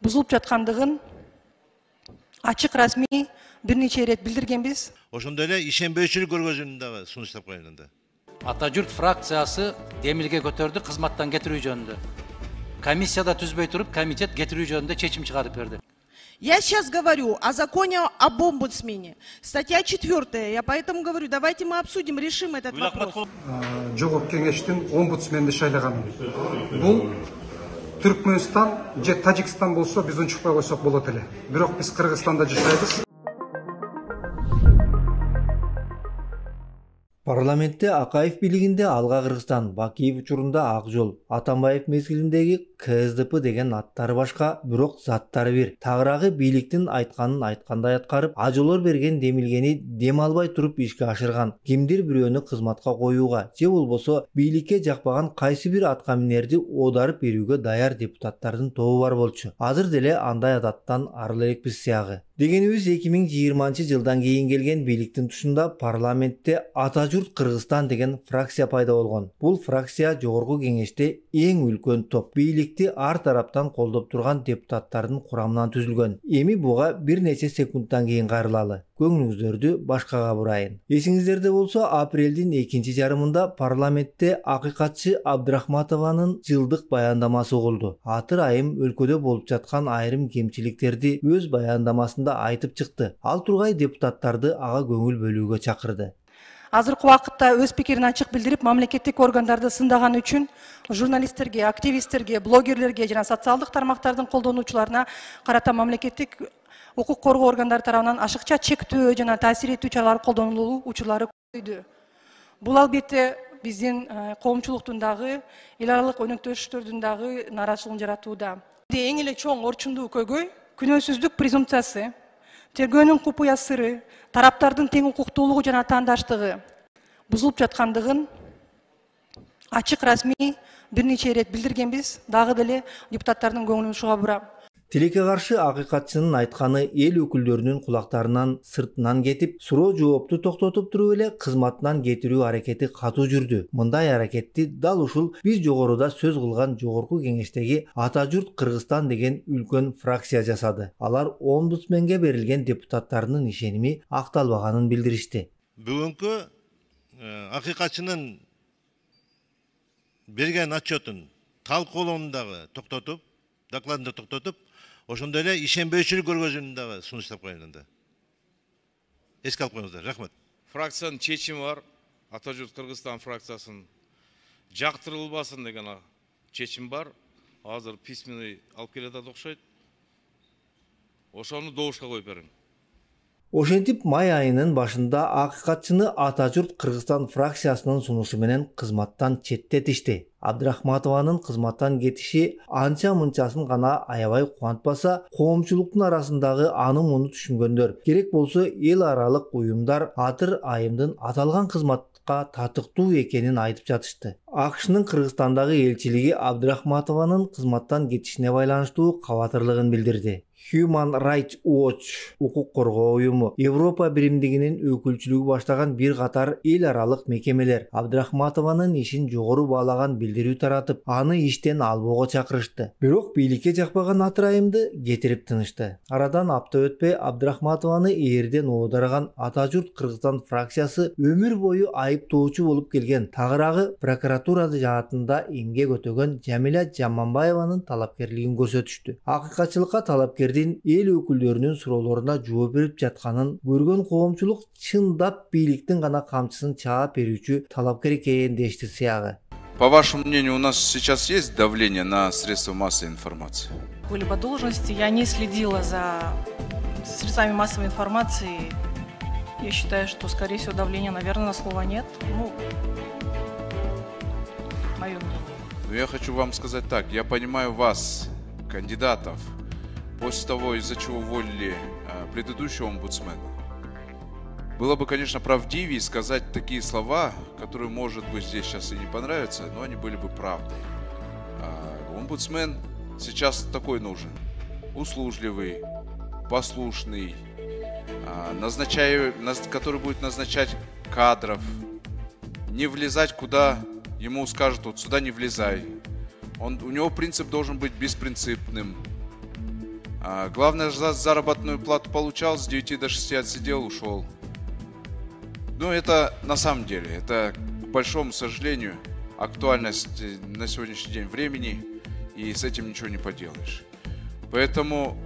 бузулуп жаткандыгын ачык расмий бир нече ирет билдиргенбиз. Ошондой эле ишенбөөчүлүк көргөзүүнү дагы сунуштап коюн. Ата журт фракциясы демилге көтөрдү кызматтан кетирүү жөнүндө. Комиссияда түзбөй туруп, комитет кетирүү жөнүндө чечим чыгарып берди. Я сейчас говорю о законе об омбудсмене. Статья 4. Я поэтому говорю, давайте мы обсудим, решим этот вопрос. Жогорку кеңештин омбудсменди шайлаган. Бул Түркмөнстан же Тажикстан болсо биз унчукпай койсок болот эле. Бирок биз Кыргызстанда жашайбыз. Парламентте Акаев бийлигинде Алга Кыргызстан, Бакиев учурунда Ак Жол, Атамбаев мезгилиндеги КСДП деген аттары башка, бирок заттары бир. Тагыраагы бийликтин айтканын айткандай аткарып, ажолор берген демилгени дем албай туруп ишке ашырган. Кимдир бирөөнү кызматка коюуга же болбосо бийликке жакпаган кайсы бир аткаминерди оодарып берүүгө даяр депутаттардын тобу бар болчу. Азыр деле андай адаттан арыл элекпиз сыягы. Дегенибиз 2020-жылдан кийин келген бийликтин тушунда парламентте Ата журт Кыргызстан деген фракция пайда болгон. Бул фракция жогорку кеңеште эң үлкөн топ. Бийликти ар тараптан колдоп турган депутаттардын курамынан түзүлгөн. Эми буга бир нече секундтан кийин кайрылалы. Көңүлүңүздөрдү башкага бурайын. Эсиңиздерде болсо, апрелдин 2 жарымында парламентте акыйкатчы Абдрахматованын жылдык баяндамасы угулду. Атыр айым өлкөдө болуп жаткан айрым кемчиликтерди өз баяндамасында айтып чыкты. Ал тургай депутаттарды ага көңүл бөлүүгө чакырды. Азыркы убакытта өз пикирин ачык билдирип, мамлекеттик органдарды сындаган үчүн журналисттерге, активисттерге, блогерлерге жана социалдык тармактардын колдонуучуларына карата мамлекеттик укук коргоо органдары тарабынан ашыкча чектөө жана таасир этүү чаралары колдонулуу учурлары көбөйдү. Бул албетте биздин коомчулуктун дагы, эл аралык өнөктөштөрдүн дагы нааразычылыгын жаратууда. Эң эле чоң орчундуу көйгөй күнөөсүздүк презумпциясы, тергөөнүн купуя сыры, тараптардын тең укуктуулугу жана таандаштыгы бузулуп жаткандыгын ачык расмий бир нече ирет билдиргенбиз. Дагы деле депутаттардын көңүлүн ушуга бурам. Тилекке каршы акыйкатчынын айтканы эл өкүлдөрүнүн кулактарынан сыртынан кетип, суроо жоопту токтотуп туруп эле кызматынан кетирүү аракети катуу жүрдү. Мындай аракетти дал ушул биз жогоруда сөз кылган жогорку кеңештеги Ата журт Кыргызстан деген үлкөн фракция жасады. Алар омбудсменге берилген депутаттарынын ишеними акталбаганын билдиришти. Бүгүнкү акыйкатчынын берген отчетун талкуулоону дагы токтотуп, докладын токтотуп, ошондой эле ишенбөөчүлүк көргөзүүнү дагы сунуштап коюн. Эске алып коюңуздар. Рахмат. Фракциянын чечими бар. Ата журт Кыргызстан фракциясын жактырылбасын деген чечим бар. Азыр письменный алып келатат окшойт. Ошону добушка коюп бериң. Ошентип май айынын башында акыйкатчыны Ата журт Кыргызстан фракциясынын сунушу менен кызматтан четтетишти. Абдрахматованын кызматтан кетиши анча-мынчасын гана аябай кубантпаса, коомчулуктун арасындагы аны муну түшүнгөндөр, керек болсо эл аралык уюмдар Атыр айымдын аталган кызматка татыктуу экенин айтып жатышты. АКШнын Кыргызстандагы элчилиги Абдрахматованын кызматтан кетишине байланыштуу кабатырлыгын билдирди. Human Rights Watch укук коргоо уюму, Европа биримдигинин өкүлчүлүгү баштаган бир катар эл аралык мекемелер Абдрахматованын ишин жогору баалаган билдирүү таратып, аны иштен албоого чакырышты. Бирок бийликке жакпаган Атыр айымды кетирип тынышты. Арадан апта өтпөй Абдрахматованы ээрден оодарган Ата журт Кыргызстан фракциясы өмүр бою айыптоочу болуп келген тагыраагы прокуратура жаатында эмгек өтөгөн Жамиля Жаманбаеванын талапкерлигин көрсөтүштү. Акыйкатчылыкка талапкердин эл өкүлдөрүнүн суроолоруна жооп берип жатканын көргөн коомчулук чындап бийликтин гана камчысын чаап берүүчү талапкер экенин дешти сыягы. По вашему мнению, у нас сейчас есть давление на средства массовой информации? Либо должности я не следила за средствами массовой информации. Я считаю, что, скорее всего, давления, наверное, на слово нет. Ну, мое мнение. Но я хочу вам сказать так. Я понимаю вас, кандидатов, после того, из-за чего уволили предыдущего омбудсмена. Было бы, конечно, правдивее сказать такие слова, которые, может быть, здесь сейчас и не понравятся, но они были бы правдой. Омбудсмен сейчас такой нужен. Услужливый, послушный, который будет назначать кадров, не влезать куда ему скажут, вот сюда не влезай. У него принцип должен быть беспринципным. Главное, заработную плату получал, с 9 до 6 отсидел, ушел. Ну, это на самом деле, это, к большому сожалению, актуальность на сегодняшний день времени, и с этим ничего не поделаешь. Поэтому,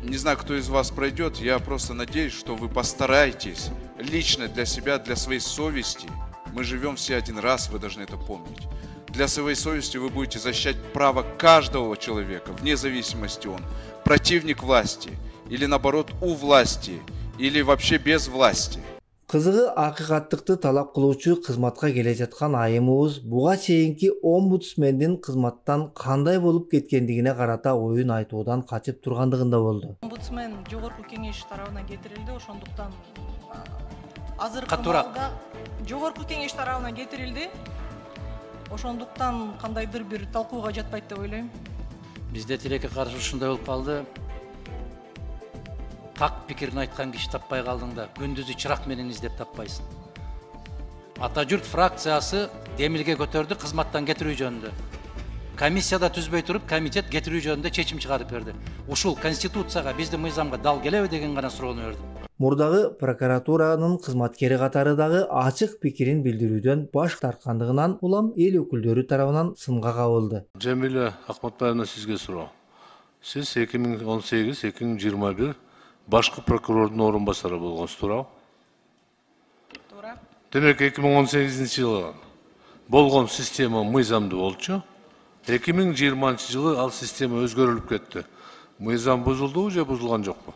не знаю, кто из вас пройдет, я просто надеюсь, что вы постараетесь лично для себя, для своей совести. Мы живем все один раз, вы должны это помнить. Для своей совести вы будете защищать право каждого человека, вне зависимости он противник власти, или наоборот у власти, или вообще без власти. Кызыгы акыйкаттыкты талап кылуучу кызматка келе жаткан айымыбыз буга чейинки омбудсмендин кызматтан кандай болуп кеткендигине карата оюн айтуудан качып тургандыгында болду. Омбудсмен жогорку кеңеш тарабынан кетирилди, ошондуктан азыркы Катуураак. маалда жогорку кеңеш тарабынан кетирилди. Ошондуктан кандайдыр бир талкууга жатпайт деп ойлойм. Бизде тилекке каршы ушундай болуп калды. Так пикирин айткан киши таппай калдыңда, күндүзү чырак менен издеп таппайсың. Ата журт фракциясы демилге көтөрдү кызматтан кетирүү жөнүндө. Комиссияда түзбөй туруп, комитет кетирүү жөнүндө чечим чыгарып берди. Ушул конституцияга, биздин мыйзамга дал келеби деген гана суроону берди. Мурдагы прокуратуранын кызматкери катары дагы ачык пикирин билдирүүдөн баш тарткандыгынан улам эл өкүлдөрү тарабынан сынга кабылды. Жамиля Ахматбаевна, сизге суроо. Сиз 2018-2021 башкы прокурордун орун басары болгонсуз, туурабы? Туура. Демек 2018-жылы болгон система мыйзамдуу болчу. 2020-жылы ал система өзгөрүлүп кетти. Мыйзам бузулдубу же бузулган жокпу?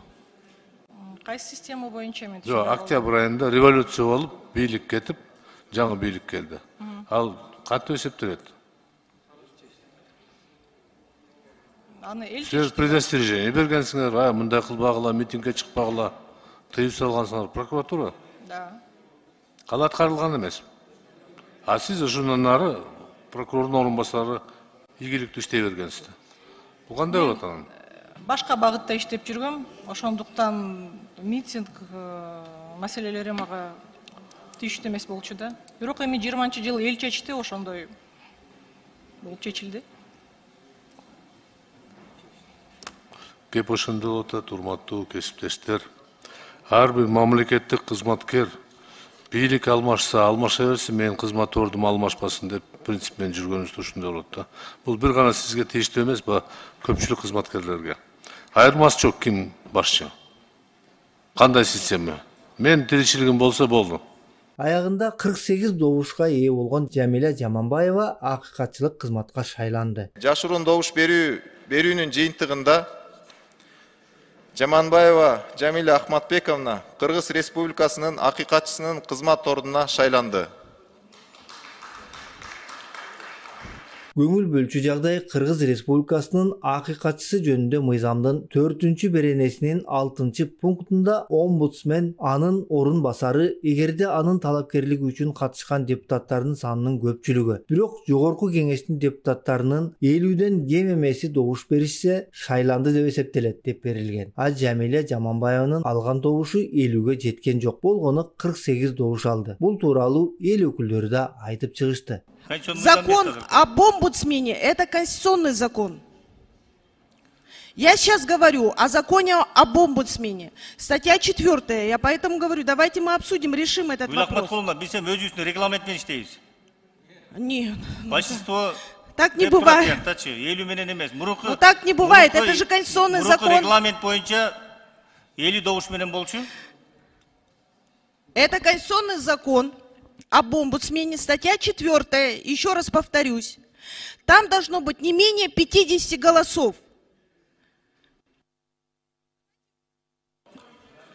Кайсы система боюнча мен Жок, октябрь айында революция болуп, бийлик кетип, жаңы бийлик келди. Ал кантип эсептелет? Аны эл Сиз предостережение бергенсиңер, мындай кылбагыла, митингге чыкпагыла, тыюп салгансыңар прокуратура. Да. Ал аткарылган эмес. А сиз ошондон ары прокурордун орун басары ийгиликтүү иштей бергенсиз. Бул кандай болот анан? Башка багытта иштеп жүргөм, ошондуктан митинг маселелери мага тийиштүү эмес болчу да. Бирок эми 20-жылы эл чечти, ошондой болуп чечилди. Кеп ошондой болот, урматтуу кесиптештер. Ар бир мамлекеттик кызматкер бийлик алмашса, алмаша берсин, менин кызмат ордум алмашпасын деп принцип менен жүргөнүбүздө ушундай болот да. Бул бир гана сизге тийиштүү эмес, көпчүлүк кызматкерлерге. Айырмасы жок ким башчы. Кандай система? Мен тиричилигим болсо болду. Аягында 48 добушка ээ болгон Жамиля Жаманбаева акыйкатчылык кызматка шайланды. Жашыруун добуш берүүнүн жыйынтыгында Жаманбаева Жамиля Ахматбековна Кыргыз Республикасынын акыйкатчысынын кызмат ордуна шайланды. Көңүл бөлчү жагдай Кыргыз Республикасынын акыйкатчысы жөнүндө мыйзамдын 4-беренесинин 6-пунктунда омбудсмен анын орун басары эгерде анын талапкерлиги үчүн катышкан депутаттардын санынын көпчүлүгү, бирок жогорку кеңештин депутаттарынын 50ден кем эмеси добуш беришсе шайланды деп эсептелет деп берилген. А Жамиля Жаманбаеванын алган добушу 50ге жеткен жок, болгону 48 добуш алды. Бул тууралуу эл өкүлдөрү да айтып чыгышты. Закон об омбудсмене – это конституционный закон. Я сейчас говорю о законе об омбудсмене. Статья 4. Я поэтому говорю, давайте мы обсудим, решим этот вопрос. Нет. Большинство так не бывает. Ну так не бывает, это же конституционный закон. Регламент боюнча это конституционный закон об омбудсмене, статья 4, еще раз повторюсь, там должно быть не менее 50 голосов.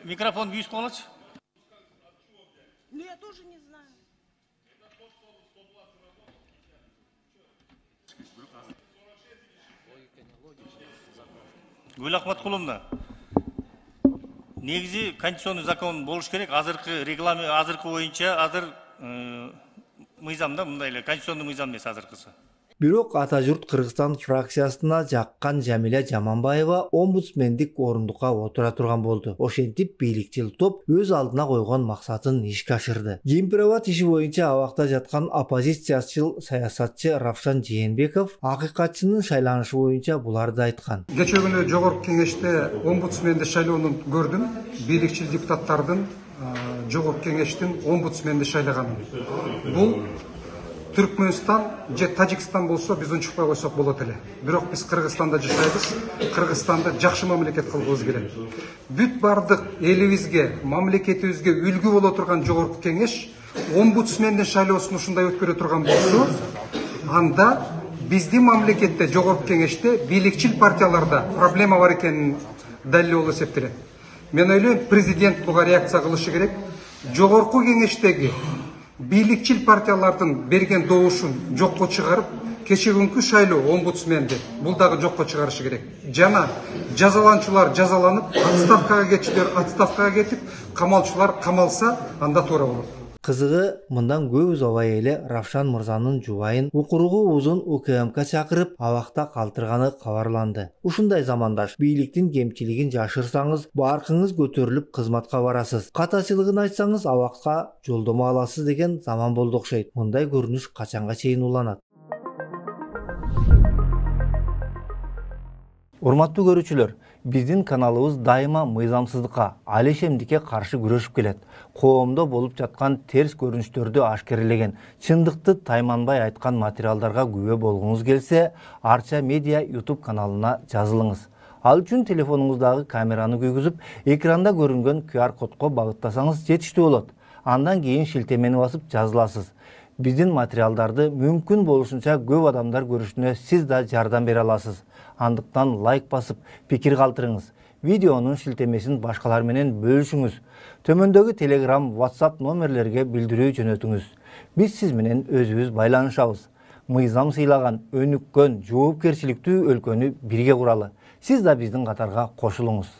Микрофон виз колочь. Ну я тоже не знаю. Гүл Ахматкуловна, негизи конституционный закон болуш керек. Азыркы регламент, азыркы боюнча азыр мыйзамда мындай эле конституционный мыйзам эмес азыркысы. Бирок Ата журт Кыргызстан фракциясына жаккан Жамиля Жаманбаева омбудсмендик орундукка отура турган болду. Ошентип бийликчил топ өз алдына койгон максатын ишке ашырды. Кемпироват иши боюнча абакта жаткан оппозициячыл саясатчы Равшан Жээнбеков акыйкатчынын шайланышы боюнча буларды айткан. Кечээ күнү жогорку кеңеште омбудсменди шайлоонун көрдүм. Бийликчил депутаттардын жогорку кеңештин омбудсменди шайлаганын. Бул Түркмөнстан же Тажикстан болсо биз унчукпай койсок болот эле. Бирок биз Кыргызстанда жашайбыз. Кыргызстанды жакшы мамлекет кылгыбыз келет. Бүт бардык элибизге, мамлекетибизге үлгү боло турган жогорку кеңеш омбудсмендин шайлоосун ушундай өткөрө турган болсо, анда биздин мамлекетте жогорку кеңеште бийликчил партияларда проблема бар экенин далил болуп эсептелет. Мен ойлойм, президент буга реакция кылышы керек. Жогорку кеңештеги бийликчил партиялардын берген добушун жокко чыгарып, кечээ күнкү шайлоо омбудсменди бул дагы жокко чыгарышы керек. Жана жазаланчулар жазаланып, отставкага кетчилер отставкага кетип, камалчулар камалса, анда туура болот. Кызыгы, мындан көп узабай эле Равшан мырзанын жубайын укуругу узун УКМК чакырып, абакта калтырганы кабарланды. Ушундай замандаш бийликтин кемчилигин жашырсаңыз, баркыңыз көтөрүлүп кызматка барасыз. Катачылыгын айтсаңыз, абакка жолдомо аласыз деген заман болду окшойт. Мындай көрүнүш качанга чейин уланат? Урматтуу көрүүчүлөр, биздин каналыбыз дайыма мыйзамсыздыкка, алешемдикке каршы күрөшүп келет. Коомдо болуп жаткан терс көрүнүштөрдү ашкерелеген, чындыкты тайманбай айткан материалдарга күбө болгуңуз келсе, Арча Медиа YouTube каналына жазылыңыз. Ал үчүн телефонуңуздагы камераны күйгүзүп, экранда көрүнгөн QR кодко багыттасаңыз жетиштүү болот. Андан кийин шилтемени басып жазыласыз. Биздин материалдарды мүмкүн болушунча көп адамдар көрүшүнө сиз да жардам бере аласыз. Андыктан лайк басып, пикир калтырыңыз. Видеонун шилтемесин башкалар менен бөлүшүңүз. Төмөндөгү Telegram, WhatsApp номерлерге билдирүү жөнөтүңүз. Биз сиз менен өзүбүз байланышабыз. Мыйзам сыйлаган, өнүккөн, жоопкерчиликтүү өлкөнү бирге куралы. Сиз да биздин катарга кошулуңуз.